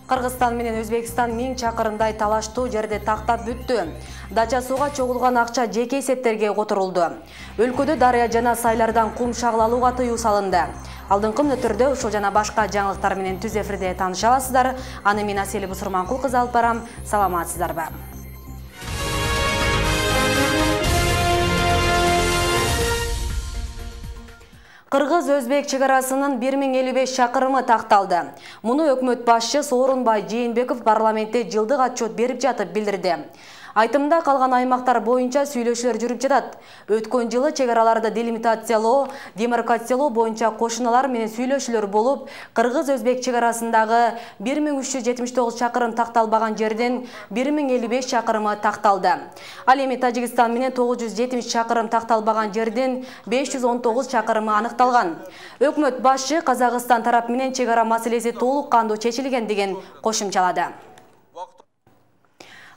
Кыргызстан менен Өзбекстан 1000 чакырымдай талаштуу жерди тактап бүттү. Дача сууга чогулган акча жеке эсептерге которулду. Өлкөдө дарыя жана сайлардан кум шагылалууга тыюу салынды. Алдыңкы мүнөттөрдө ушул жана башка жаңылыктар менен түз эфирде тааныша аласыздар. Аны мен Асель Бусурманкул кызы алып барам. Саламатсыздарбы? Кыргыз-Өзбек чегарасынын 1055 чакырымы такталды. Муну өкмөт башчы Сооронбай Жээнбеков парламентте жылдык отчет берип жатып билдирди. Айтымда калган аймактар боюнча сүйлөшүүлөр жүрүп жатат. Өткөн жылы чегараларды делимитациялоо, демаркациялоо боюнча кошуналар менен сүйлөшүүлөр болуп, Кыргыз-Өзбек чегарасындагы 1379 чакырым такталбаган жерден 1055 чакырымы такталды. Ал эми Тажикстан менен 970 чакырым такталбаган жерден 519 чакырымы аныкталган. Өкмөт башчы Казакстан тарап менен чегара маселеси толук кандуу чечилген деген кошумчалады.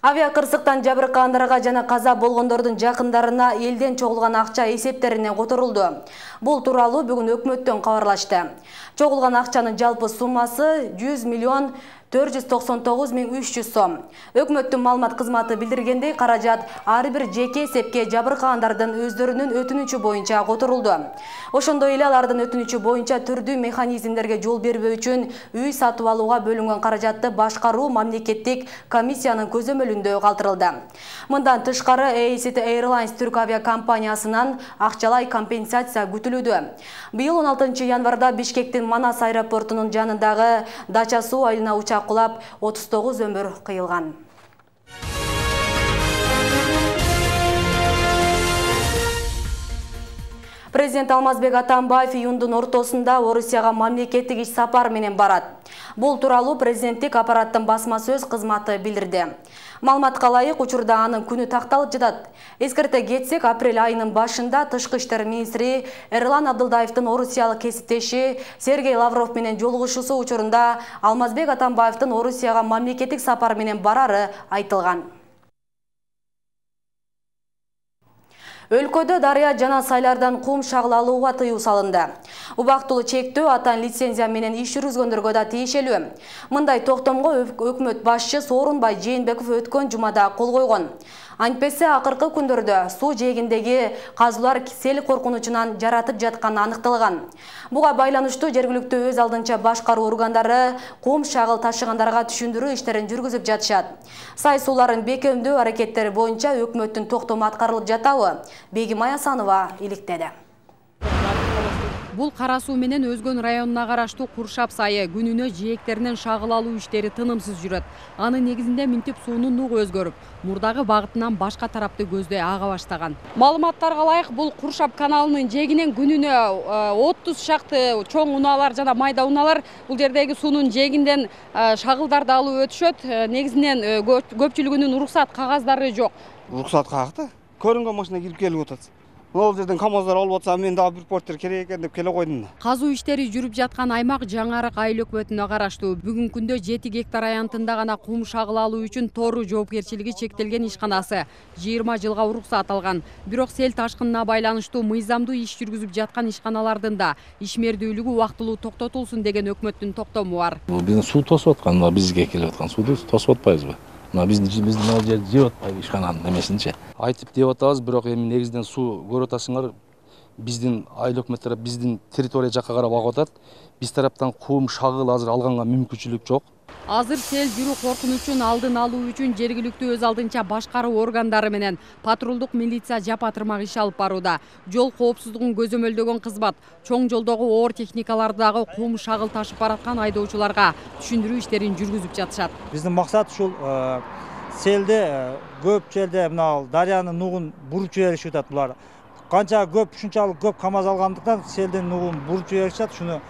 Авиа кырсыктан жабыркагандарга жана каза болгондордун жакындарына элден чогулган акча эсептерине которулду. Бул тууралуу бүгүн өкмөттөн кабарлашты. Чогулган акчанын жалпы суммасы 100.499.300 сом. Өкмөттүн маалымат кызматы билдиргендей, каражат ар бир жеке эсепке жабыркагандардын өздөрүнүн өтүнүчү боюнча которулду. Ошондой эле алардын өтүнүчү боюнча түрдүү механизмдерге жол бербөө үчүн үй сатып алууга бөлүнгөн каражатты башкаруу мамлекеттик комиссиянын көзөмөлүндө калтырылды. Мындан тышкары ACT Airlines түрк авиакомпаниясынан акчалай компенсация күтүлүүдө. Быйыл 16 январда Бишкектин Манас аэропортунун жанындагы Дача суу айылына учак кулап 39 өмүр кыйылган. Президент Алмазбек Атамбаев июндун ортосунда Орусияга мамлекеттик иш сапар менен барат. Бул тууралуу президенттик аппараттын басма сөз кызматы билдирди. Маалыматка ылайык, учурда анын күнү такталып жатат. Эскерте кетсек, апрель айынын башында тышкы иштер министри Эрлан Абдылдаевдин орусиялык кесиптеши Сергей Лавров менен жолугушуусу учурунда Алмазбек Атамбаевдин Орусияга мамлекеттик сапар менен барары айтылган. Өлкөдө дарыя жана сайлардан кум шагылалууга тыюу салынды. Убактылуу чектөө атан лицензия менен иш жүргүзгөндөргө да тиешелүү. Мындай токтомго өкмөт башчы Сооронбай Жээнбеков өткөн жумада кол койгон. Антпесе акыркы күндөрдө суу жээгиндеги казуулар сел коркунучунан жаратып жатканы аныкталган. Буга байланыштуу жергиликтүү өз алдынча башкаруу органдары кум шагыл ташыгандарга түшүндүрүү иштерин жүргүзүп жатышат. Сай сууларын бекемдөө аракеттери боюнча өкмөттүн токтому аткарылып жатабы? Бегим Аясанова иликтеди. Бул Кара суу менен Өзгөн районуна караштуу Куршап сайы күнүнө жээктеринен шагыл алуу иштери тынымсыз жүрөт. Анын негизинде Минтип суунун нугу өзгөрүп, мурдагы багытынан башка тарапты көздөй ага баштаган. Маалыматтарга ылайык, бул Куршап каналынын жээгинен күнүнө 30 шакты чоң унаалар жана майда унаалар бул жердеги суунун жээгинден шагылдарды алып өтүшөт. Негизинен көпчүлүгүнүн уруксат кагаздары жок. Уруксат кагакта көрүнгөн машина кирип келип атат. Ол жерден КамАЗдар алып атса, мен дагы бир порттер керек экен деп келе койдум да. Казуу иштери жүрүп жаткан аймак Жаңарык айыл өкмөтүнө караштуу. Бүгүнкү күндө 7 гектар аянтында гана кум шагыл алуу үчүн Тору жоопкерчилиги чектелген ишканасы 20 жылга уруксат алган. Бирок сел ташкынына байланыштуу мыйзамдуу иш жүргүзүп жаткан ишканалардын да ишмердүүлүгү убактылуу токтотулсун деген өкмөттүн токтому бар. Бул биздин суу тосуп аткан, бизге келип аткан сууду тосуп атпайбызбы? Биздин ал жерди жеп атпайбы ишкананын эмесинчи. Айтып деп атабыз, бирок эми негизинен суу көрүп атасыңар, биздин айыл өкмөттөр биздин территория жакка карап агып атат. Биз тараптан кум шагыл азыр алганга мүмкүнчүлүк жок. Азыр сел жүрүү коркунучун алдын алуу үчүн жергиликтүү өз алдынча башкаруу органдары менен патрулдук милиция жапа-тырмак иш алып барууда. Жол коопсуздугун көзөмөлдөгөн кызмат чоң жолдогу оор техникалардагы кум шагыл ташып бараткан айдоочуларга түшүндүрүү иштерин жүргүзүп жатышат. Биздин максат ушул селде көп жерде мына дарыянын нугун буруп жиберишип атат булар. Канча көп, ушунчалык көп КамАЗ алгандыктан селдин нугун буруп жиберишет. Шуну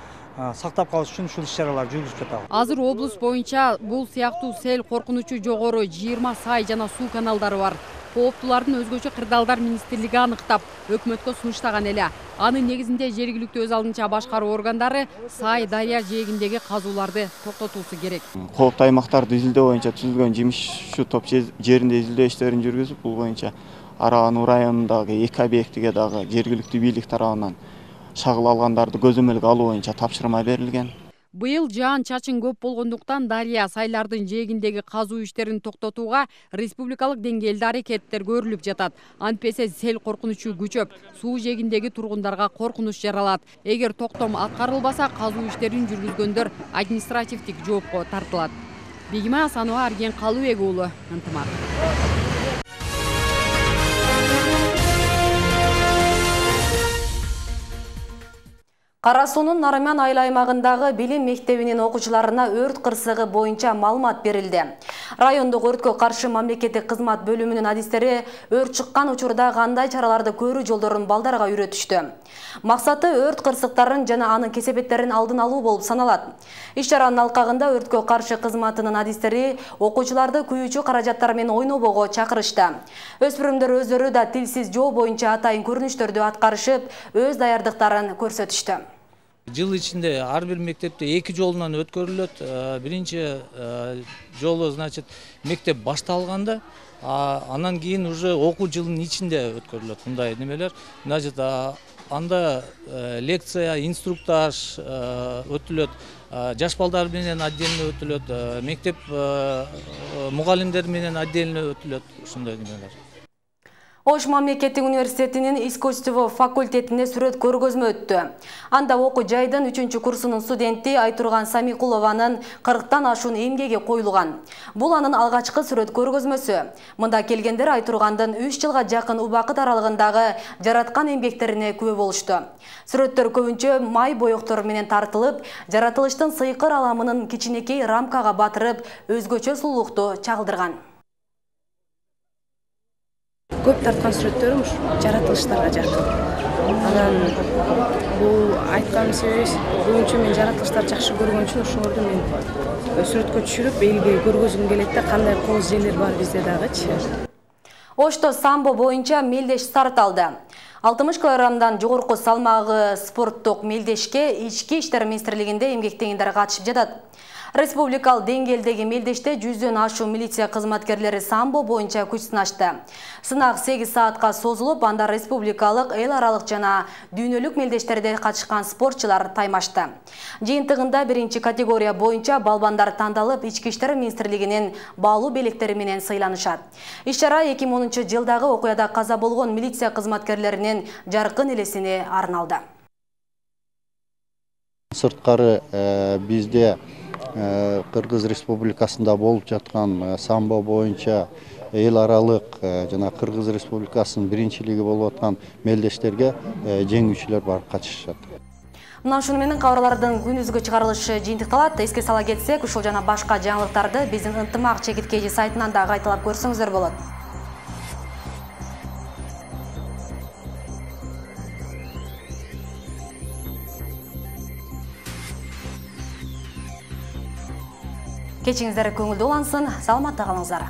сактап калыш үчүн ушул иш-чаралар жүргүзүп жатабыз. Азыр облус боюнча бул сыяктуу сел коркунучу жогору 20 сай жана суу каналдары бар. Кооптулардын өзгөчө кырдаалдар министрлиги аныктап, өкмөткө сунуштаган эле. Анын негизинде жергиликтүү өз алдынча башкаруу органдары сай дарыя жээгиндеги казууларды токтотуусу керек. Кооптуу аймактарды изилдөө боюнча түзүлгөн жумушчу топ жеринде изилдөө иштерин жүргүзүп, бул боюнча Араа-Нуу районундагы 2 объектиге дагы жергиликтүү бийлик тарабынан шагыл алгандарды көзөмөлгө алуу боюнча тапшырма берилген. Быйыл жаан-чачын көп болгондуктан дарыя сайлардын жээгиндеги казуу иштерин токтотууга республикалык деңгээлде аракеттер көрүлүп жатат. Антпесе сел коркунучу күчөп, суу жээгиндеги тургундарга коркунуч жаралат. Эгер токтом аткарылбаса, казуу иштерин жүргүзгөндөр административдик жоопко тартылат. Бегима Асанова, Арген Калыбек уулу, Ынтымак. Кара суунун Нарыман айыл аймагындагы билим мектебинин окуучуларына өрт кырсыгы боюнча маалымат берилди. Райондук өрткө каршы мамлекеттик кызмат бөлүмүнүн адистери өрт чыккан учурда кандай чараларды көрүү жолдорун балдарга үйрөтүштү. Максаты өрт кырсыктарын жана анын кесепеттерин алдын алуу болуп саналат. Иш-чаранын алкагында өрткө каршы кызматынын адистери окуучуларды күйүүчү каражаттар менен ойнобого чакырышты. Өспүрүмдөр өздөрү да тилсиз жоо боюнча атайын көрүнүштөрдү аткарышып, өз даярдыктарын көрсөтүштү. Жыл ичинде ар бир мектепте 2 жолунан өткөрүлөт. Биринчи жолу, значит, мектеп башталганда, анан кийин уже окуу жылынын ичинде өткөрүлөт мындай немелер. Значит, анда лекция, инструктаж өтүлөт, жаш балдар менен отдельно өтүлөт, мектеп мугалимдер менен отдельно өтүлөт, ушундай немелер. Ош мамлекеттик университетинин искусство факультетине сүрөт көргөзмө өттү. Анда окуу жайдын 3-курсунун студенти Айтурган Самикулованын 40тан ашуун эмгеги коюлган. Бул анын алгачкы сүрөт көргөзмөсү. Мында келгендер Айтургандын 3 жылга жакын убакыт аралыгындагы жараткан эмгектерине күбө болушту. Сүрөттөр көбүнчө май боектор менен тартылып, жаратылыштын сыйкыр аламынын кичинекей рамкага батырып, өзгөчө сулуулукту чагылдырган. Көп тарткан сүрөттөрүм жаратылыштарга жакын. Анан бул айткан себебибиз көбүнчө мен жаратылыштарды жакшы көргөн үчүн ошолорду мен сүрөткө түшүрүп элге көргөзгүм келет да, кандай кооз жерлер бар бизде дагычы. Ошто самбо боюнча мелдеш старт алды. 60 килограммдан жогорку салмагы спорттук мелдешке Ички иштер министрлигинде эмгектегендер катышып жатат. Республикалык деңгээлдеги мелдеште 100дөн ашуу милиция кызматкерлери самбо боюнча күч сынашты. Сынак 8 саатка созулуп, анда республикалык, эл аралык жана дүйнөлүк мелдештерде катышкан спортчулар таймашты. Жыйынтыгында 1 категория боюнча балбандар тандалып, Ички иштер министрлигинин баалуу белектери менен сыйланышат. Иш-чара 2010-жылдагы окуяда каза болгон милиция кызматкерлеринин жаркын элесине арналды. Сырткары бизде Кыргыз Республикасында болуп жаткан самбо боюнча эл аралык жана Кыргыз Республикасынын биринчилиги болуп аткан мелдештерге жеңүүчүлөр барып катышышат. Мына ушуну менен кабарлардын күнүзгү чыгарылышы жыйынтыкталат. Эске сала кетсек, ушул жана башка жаңылыктарды биздин Ынтымак чекиткеji сайтынан да кайталап көрсөңүздөр болот. Кечиңиздер көңүлдүү улансын, саламатта калыңыздар.